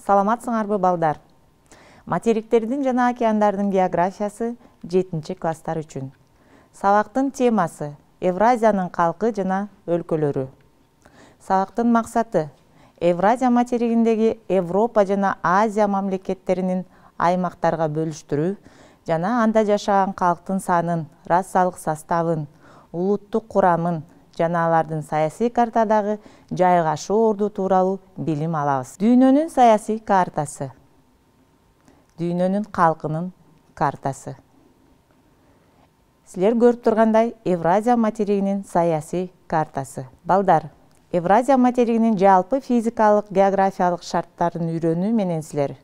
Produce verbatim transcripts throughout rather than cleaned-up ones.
Саламатсыңарбы балдар? Материктердин жана океандардын географиясы жетинчи класстар үчүн. Сабактын темасы Евразиянын калкы жана өлкөлөрү. Сабактын максаты Евразия материгиндеги Европа жана Азия мамлекеттеринин аймактарга бөлүштүрүү жана анда жашаган калктын санын, расалык составын, улуттук курамын жана алардын саясий картадагы жайгашуу орду тууралуу билим алабыз. Дүйнөнүн саясий картасы. Дүйнөнүн калкынын картасы. Силер көрүп тургандай Евразия материгинин саясий картасы. Балдар, Евразия материгинин жалпы физикалык, географиялык шарттарын үйрөнүү менен силер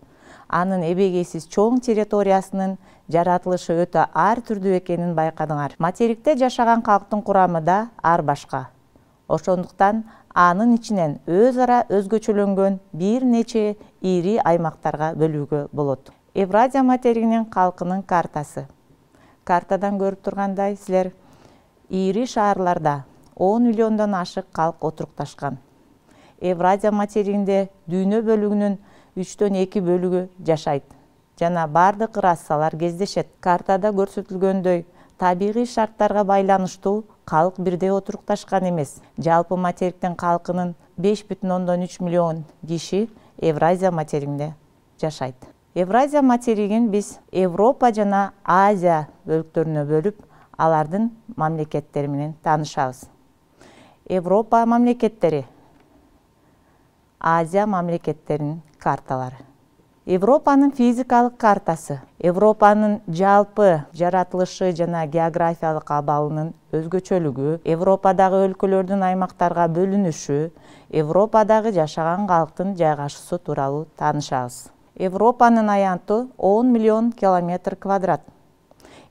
анын эбегейсиз чоң территориясынын жаратылышы өтө ар түрдүү экенин байкадыңар. Материкте жашаган калктын курамы да ар башка. Ошондуктан анын ичинен өз ара өзгөчөлөнгөн бир нече ири аймактарга бөлүүгө болот. Евразия материгинин калкынын картасы. Картадан көрүп тургандай силер ири шаарларда он миллиондон ашык калк отурукташкан. Евразия материгинде дүйнө бөлүгүнүн үчтөн эки бөлүгү жашайт жана бардык расалар кездешет. Картада көрсөтүлгөндөй табигый шарттарга байланыштуу калк бирдей отурукташкан эмес. Жалпы материктин калкынын беш бүтүн ондон үч миллион киши Евразия материгинде жашайт. Евразия материгин биз Европа жана Азия бөлүктөрүнө бөлүп, алардын мамлекеттери менен таанышабыз. Европа мамлекеттери, Азия мамлекеттеринин карталары. Европанын физикалык картасы. Европанын жалпы жаратылышы жана географиялык абалынын өзгөчөлүгү, Европадагы өлкөлөрдүн аймактарга бөлүнүшү, Европадагы жашаган калктын жайгашуусу тууралуу таанышабыз. Европанын аянты он миллион километр квадрат.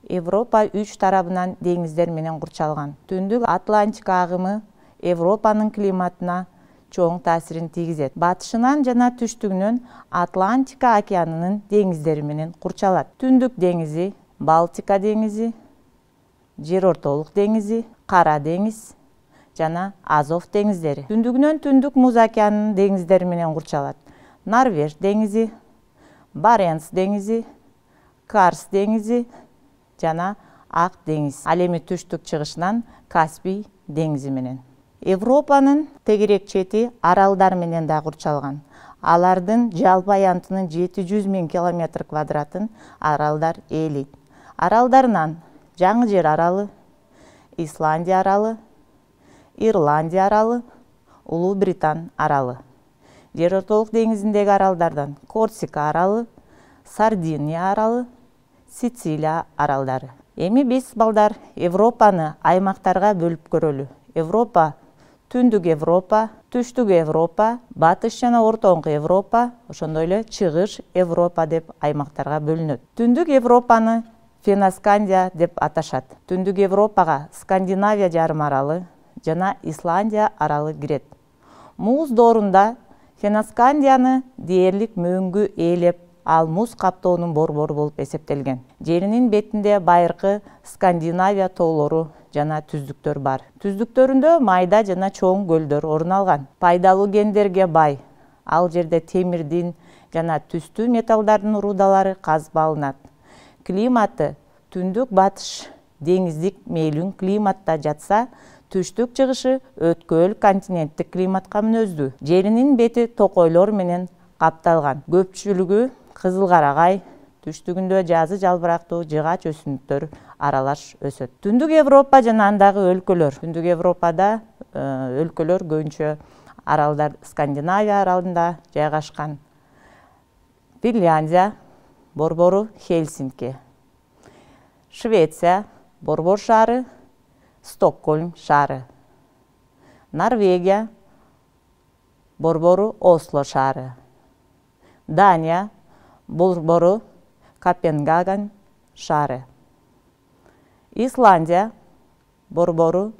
Европа үч тарабынан деңиздер менен курчалган. Түндүк Атлантика агымы Европанын климатына чоң таасирин тийгизет. Батышынан жана түштүгүнөн Атлантика океанынын деңиздери менен курчалат. Түндүк деңизи, Балтика деңизи, Жер ортолук деңизи, Кара деңиз жана Азов деңиздери. Түндүгүнөн Түндүк Муз океанынын деңиздери менен курчалат. Норвеж деңизи, Баренц деңизи, Карс деңизи жана Ак деңиз. Ал эми түштүк чыгышынан Каспий деңизи менен. Европанын тегерек чети аралдар менен да курчалган. Алардын жалпы аянтынын жети жүз миң километр квадратын аралдар ээлейт. Аралдарынан Жаңы Жер аралы, Исландия аралы, Ирландия аралы, Улуу Британ аралы. Жер ортолук деңизиндеги аралдардан Корсика аралы, Сардиния аралы, Сицилия аралдары. Эми биз балдар Европаны аймактарга бөлүп көрөлү. Европа Түндүк Европа, Түштүк Европа, Батыш жана Ортоңку Европа, ошондой эле Чыгыш Европа деп аймактарга бөлүнөт. Түндүк Европаны Феноскандия деп аташат. Түндүк Европага Скандинавия жарым аралы жана Исландия аралы кирет. Муз доорунда Феноскандияны дээрлик мөңгү ээлеп, ал муз каптоонун борбору болуп эсептелген. Жеринин бетинде байыркы Скандинавия тоолору жана түздүктөр бар. Түздүктөрүндө майда жана чоң көлдөр орун алган. Пайдалуу кендерге бай. Ал жерде темирдин жана түстүү металлдардын рудалары казып алынат. Климаты түндүк батыш деңиздик мейлүн климатта жатса, түштүк чыгышы өткөл континенттик климатка мүнөздүү. Жеринин бети токойлор менен капталган. Көпчүлүгү кызыл карагай, түштүгүндө жазы жалбырактуу жыгач өсүмдүктөр аралаш өсөт. Түндүк Европа жана андагы өлкөлөр. Түндүк Европада өлкөлөр көбүнчө аралдар Скандинавия аралында жайгашкан. Финляндия, борбору Хельсинки. Швеция, борбор шаары Стокгольм шаары. Норвегия, борбору Осло шаары. Дания, борбору Копенгаген шаары. Исландия, борбору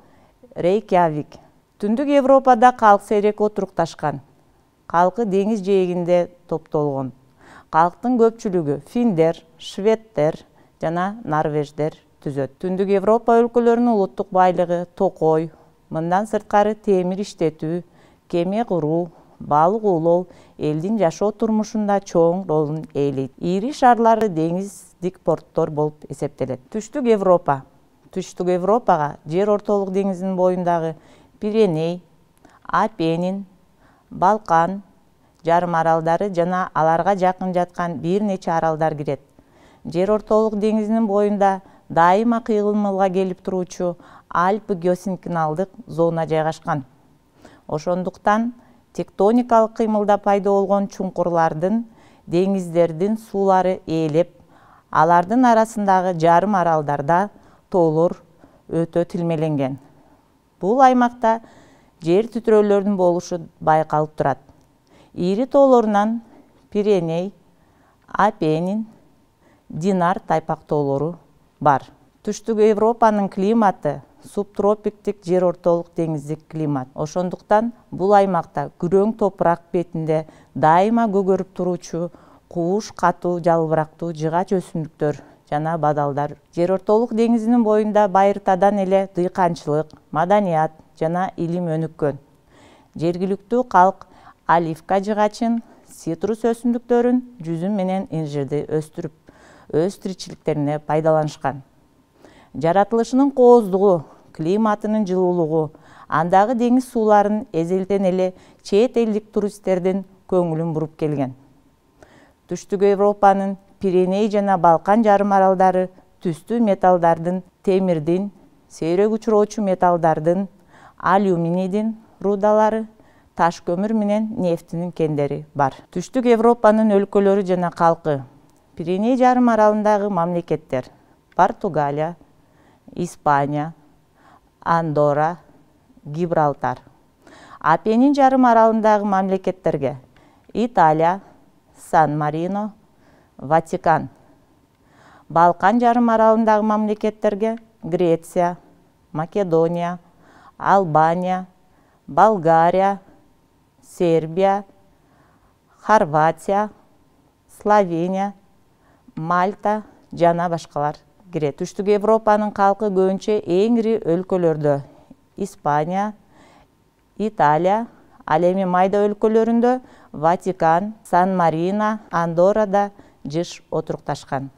Рейкьявик. Түндүк Европада калк сейрек отурукташкан. Калкы деңиз жээгинде топтолгон. Калктын көпчүлүгү финдер, шведтер жана норвеждер түзөт. Түндүк Европа өлкөлөрүнүн улуттук байлыгы токой, мындан сырткары темир иштетүү, кеме куруу, балык уулоо элдин жашоо турмушунда чоң ролун ээлейт. Ири шаарлары деңиздик порттор болуп эсептелет. Түштүк Европа. Түштүк Европага Жер ортолук деңизинин боюндагы Пиреней, Апенин, Балкан жарым аралдары жана аларга жакын жаткан бир нече аралдар кирет. Жер ортолук деңизинин боюнда дайыма кыймылга келип туруучу Альпы геосинклиналдык зона жайгашкан. Ошондуктан тектоникалык кыймылда пайда болгон чуңкурлардын, деңиздердин суулары ээлеп, алардын арасындагы жарым аралдарда тоолор өтө тилмеленген. Бул аймакта жер титирөөлөрдүн болушу байкалып турат. Ири тоолорунан Пиреней, Апенин, Динар тайпак тоолору бар. Түштүк Европанын климаты субтропиктик жер ортолук деңиздик климат. Ошондуктан бул аймакта күрөң топурак бетинде дайыма көгөрүп туруучу кууш катуу жалбырактуу жыгач өсүмдүктөр жана бадалдар. Жер ортолук деңизинин боюнда байыртадан эле дыйканчылык, маданият жана илим өнүккөн. Жергиликтүү калк оливка жыгачын, цитрус өсүмдүктөрүн, жүзүм менен инжирди өстүрүп, өз тиричиликтерине пайдаланышкан. Жаратылышынын кооздугу, климатынын жылуулугу, андагы деңиз сууларын эзелтен эле чет элдик туристтердин көңүлүн буруп келген. Түштүк Европанын Пиреней жана Балкан жарым аралдары түстүү металлдардын, темирдин, сейрек учуроочу металлдардын, алюминийдин рудалары, таш көмүр менен нефтинин кендери бар. Түштүк Европанын өлкөлөрү жана калкы. Пиреней жарым аралындагы мамлекеттер: Португалия, Испания, Андорра, Гибралтар. Апенин жарым аралындагы мамлекеттерге: Италия, Сан-Марино, Ватикан. Балкан жарым аралындагы мамлекеттерге: Греция, Македония, Албания, Болгария, Сербия, Хорватия, Словения, Мальта жана башкалар кирет. Түштүк Европанын калкы көбүнчө эң ири өлкөлөрдө: Испания, Италия, ал эми майда өлкөлөрүндө Ватикан, Сан-Марино, Андоррада жыш отурукташкан.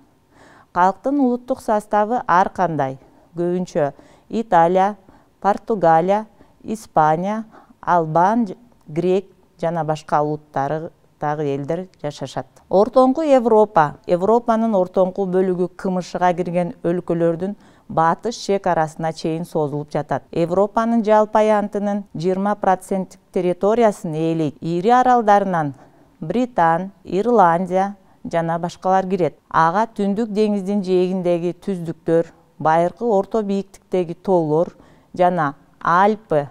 Калктын улуттук составы ар кандай. Көбүнчө Италия, Португалия, Испания, Албан, Грек жана башка улуттары дагы элдер жашашат. Ортоңку Европа. Европанын ортоңку бөлүгү кымышыга кирген өлкөлөрдүн батыш чек арасына чейин созулуп жатат. Европанын жалпы аянтынын жыйырма проценттик территориясын ээлейт. Ири аралдарынан Британ, Ирландия жана башкалар кирет. Ага Түндүк деңиздин жээгиндеги түздүктөр, байыркы орто бийиктиктеги тоолор жана Альпы,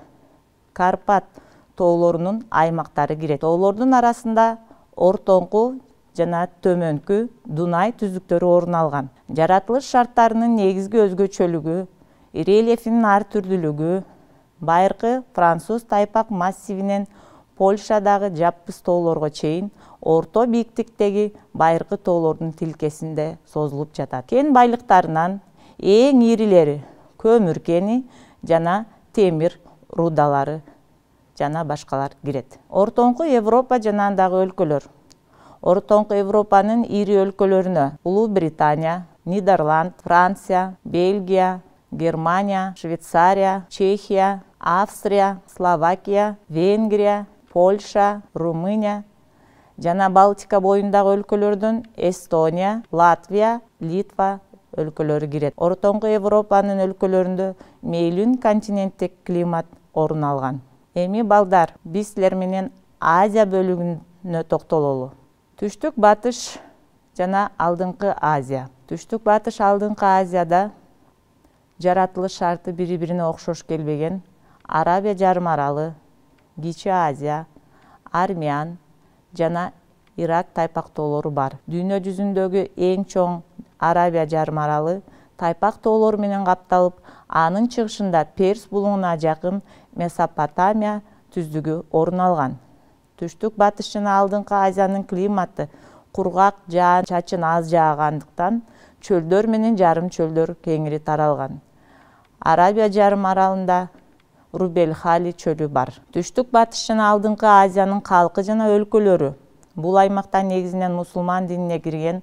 Карпат тоолорунун аймактары кирет. Тоолордун арасында ортоңку жана төмөнкү Дунай түздүктөрү орун алган. Жаратылыш шарттарынын негизги өзгөчөлүгү, рельефинин ар түрдүүлүгү, байыркы француз тайпак массивинен Польшадагы жаппыз тоолорго чейин орто бийиктиктеги байыркы тоолордун тилкесинде созулуп жатат. Кен байлыктарынан эң ирилери көмүр кени жана темир рудалары жана башкалар кирет. Ортоңку Европа жана андагы өлкөлөр. Ортоңку Европанын ири өлкөлөрүнө Улуу Британия, Нидерланд, Франция, Бельгия, Германия, Швейцария, Чехия, Австрия, Словакия, Венгрия, Польша, Румыния жана Балтика боюндагы өлкөлөрдөн Эстония, Латвия, Литва өлкөлөрү кирет. Ортоңку Европанын өлкөлөрүндө мейлүн континенттик климат орун алган. Эми балдар, биз силер менен Азия бөлүгүнө токтололу. Түштүк батыш жана алдыңкы Азия. Түштүк батыш алдыңкы Азияда жаратылыш шарты бири-бирине окшош келбеген Арабия жарым аралы, Кичи Азия, Армян жана Ирак тайпак тоолору бар. Дүйнө жүзүндөгү эң чоң Арабия жарым аралы тайпак тоолору менен капталып, анын чыгышында Перс булуңуна жакын Месопотамия түздүгү орун алган. Түштүк батыш жана алдыңкы Азиянын климаты кургак, жаан-чачын аз жаагандыктан чөлдөр менен жарым чөлдөр кеңири таралган. Арабия жарым аралында Рубель-Хали чөлү бар. Түштүк батыш жана алдыңкы Азиянын калкы жана өлкөлөрү. Бул аймакта негизинен мусулман динине кирген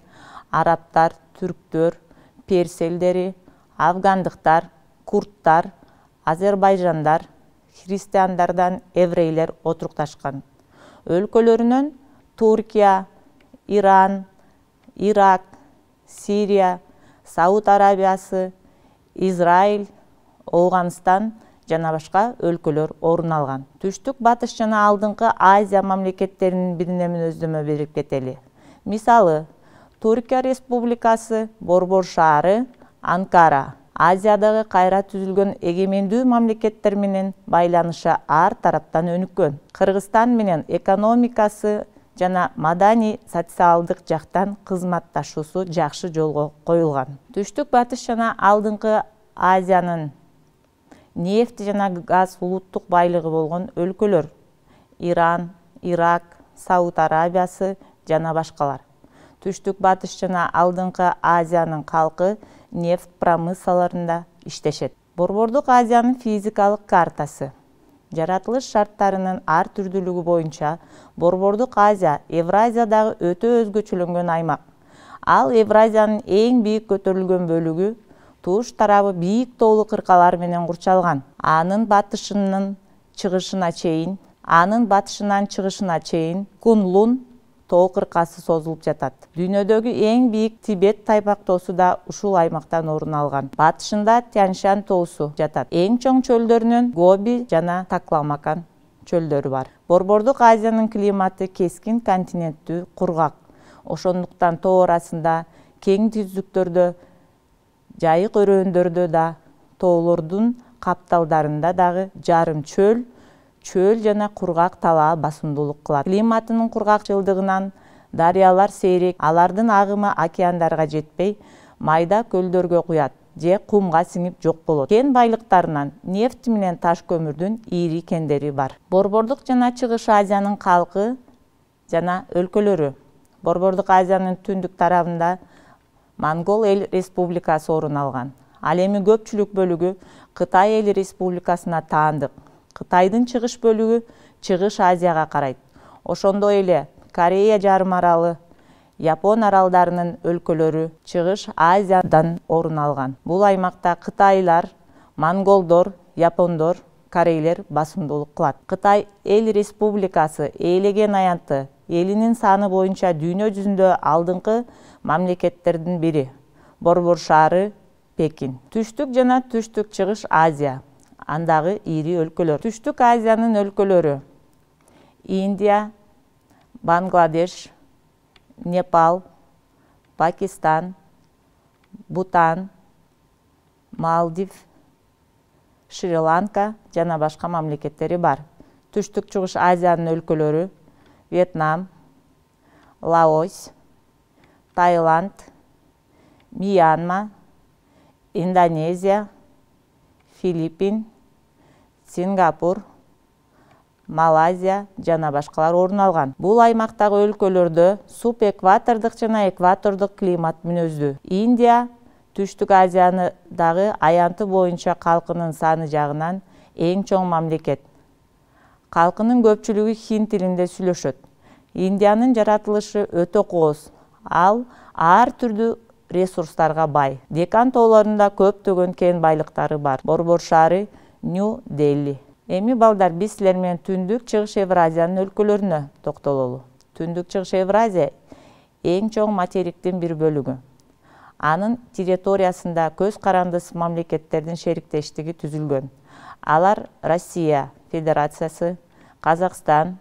арабтар, түрктөр, перс элдери, афгандыктар, курдтар, азербайжандар, христиандардан еврейлер отурукташкан. Өлкөлөрүнөн Туркия, Иран, Ирак, Сирия, Сауд Арабиясы, Израиль, Ооганстан жана башка өлкөлөр орун алган. Түштүк батыш жана алдыңкы Азия мамлекеттеринин бирине мүнөздөмө берип кетели. Мисалы, Түркия Республикасы, Борбор шаары, Анкара. Азиядагы кайра түзүлгөн эгемендүү мамлекеттер менен байланышы ар тараптан өнүккөн. Кыргызстан менен экономикасы жана маданий социалдык жактан кызматташуусу жакшы жолго коюлган. Түштүк батыш жана алдыңкы Азиянын нефть жана газ улуттук байлыгы болгон өлкөлөр: Иран, Ирак, Сауд Арабиясы жана башкалар. Түштүк батыш жана алдыңкы Азиянын калкы нефть промыслаларында иштешет. Борбордук Азиянын физикалык картасы. Жаратылыш шарттарынын ар түрдүүлүгү боюнча Борбордук Азия Евразиядагы өтө өзгөчөлөнгөн аймак. Ал Евразиянын эң бийик көтөрүлгөн бөлүгү туш тарабы бийик тоолуу кыркалар менен курчалган. Анын батышынан чыгышына чейин, анын батышынан чыгышына чейин Кунлун тоо кыркасы созулуп жатат. Дүйнөдөгү эң бийик Тибет тайпактоосу да ушул аймактан орун алган. Батышында Тянь-Шань тоосу жатат. Эң чоң чөлдөрүнөн Гоби жана Такламакан чөлдөрү бар. Борбордук Азиянын климаты кескин континенттүү, кургак. Ошондуктан тоо арасында кең түздүктөрдө, жайык өрөөндөрдө да, тоолордун капталдарында дагы жарым чөл, чөл жана кургак талаа басымдуулук кылат. Климатынын кургакчылдыгынан дарыялар сейрек, алардын агымы океандарга жетпей, майда көлдөргө куят же кумга сиңип жок болот. Кен байлыктарынан нефть менен таш көмүрдүн ири кендери бар. Борбордук жана Чыгыш Азиянын калкы жана өлкөлөрү. Борбордук Азиянын түндүк тарабында Монгол эл республикасы орун алган. Ал эми көпчүлүк бөлүгү Кытай эл республикасына таандык. Кытайдын чыгыш бөлүгү Чыгыш Азияга карайт. Ошондой эле Корея жарым аралы, Япон аралдарынын өлкөлөрү Чыгыш Азиядан орун алган. Бул аймакта кытайлар, монголдор, япондор, корейлер басымдуулук кылат. Кытай эл республикасы ээлеген аянты элинин саны боюнча дүйнө жүзүндө алдыңкы мамлекеттердин бири. Борбор шаары Пекин. Түштүк жана Түштүк Чыгыш Азия. Андагы ири өлкөлөр. Түштүк Азиянын өлкөлөрү: Индия, Бангладеш, Непал, Пакистан, Бутан, Малдив, Шри-Ланка жана башка мамлекеттери бар. Түштүк Чыгыш Азиянын өлкөлөрү: Вьетнам, Лаос, Таиланд, Мьянма, Индонезия, Филиппин, Сингапур, Малайзия жана башкалар орун алган. Бул аймактагы өлкөлөрдө субэкватордук жана экватордук климат мүнөздүү. Индия Түштүк Азиянындагы аянты боюнча калкынын саны жагынан эң чоң мамлекет. Калкынын көпчүлүгү хинди тилинде сүйлөшөт. Индиянын жаратылышы өтө кооз. Ал ар түрдүү ресурстарга бай. Декан тоолорунда көптөгөн кен байлыктары бар. Борбор шаары Нью-Дели. Эми балдар биз силер менен Түндүк Чыгыш Евразиянын өлкөлөрүнө токтололу. Түндүк Чыгыш Евразия эң чоң материктин бир бөлүгү. Анын территориясында көз карандыс мамлекеттердин шериктештиги түзүлгөн. Алар Россия Федерациясы, Казакстан,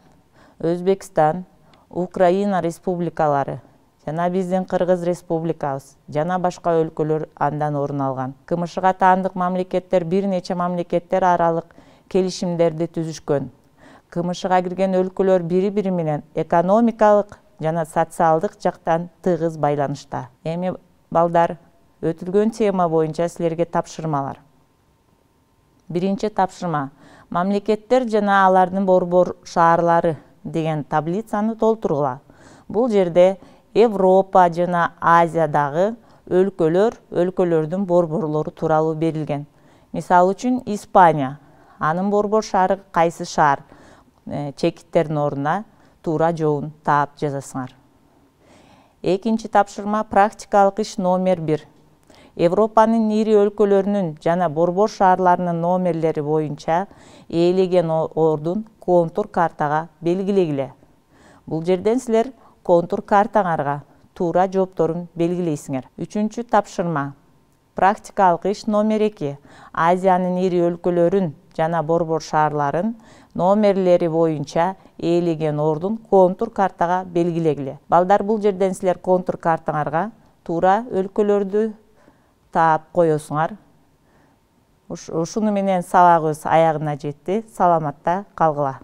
Өзбекстан, Украина республикалары жана биздин Кыргыз республикабыз жана башка өлкөлөр андан орун алган. КМШга таандык мамлекеттер бир нече мамлекеттер аралык келишимдерди түзүшкөн. КМШга кирген өлкөлөр бири-бири менен экономикалык жана социалдык жактан тыгыз байланышта. Эми балдар, өтүлгөн тема боюнча силерге тапшырмалар. Биринчи тапшырма: мамлекеттер жана алардын борбор шаарлары деген таблицаны толтургула. Бул жерде Европа жана Азиядагы өлкөлөр, өлкөлөрдүн борборлору тууралуу берилген. Мисалы үчүн Испания. Анын борбор шаары кайсы шаар? Чекиттердин ордуна туура жообун таап жазасыңар. Экинчи тапшырма практикалык иш номер бир. Европанын ири өлкөлөрүнүн жана борбор шаарларынын номерлери боюнча ээлеген ордун контур картага белгилегиле. Бул жерден силер контур картаңарга туура жоопторун белгилейсиңер. Үчүнчү тапшырма практикалык иш номер эки. Азиянын ири өлкөлөрүн жана борбор шаарларын номерлери боюнча ээлеген ордун контур картага белгилегиле. Балдар, бул жерден силер контур картаңарга туура өлкөлөрдү таап коесуңар. Ушуну менен сабагыбыз аягына жетти. Саламатта калгыла.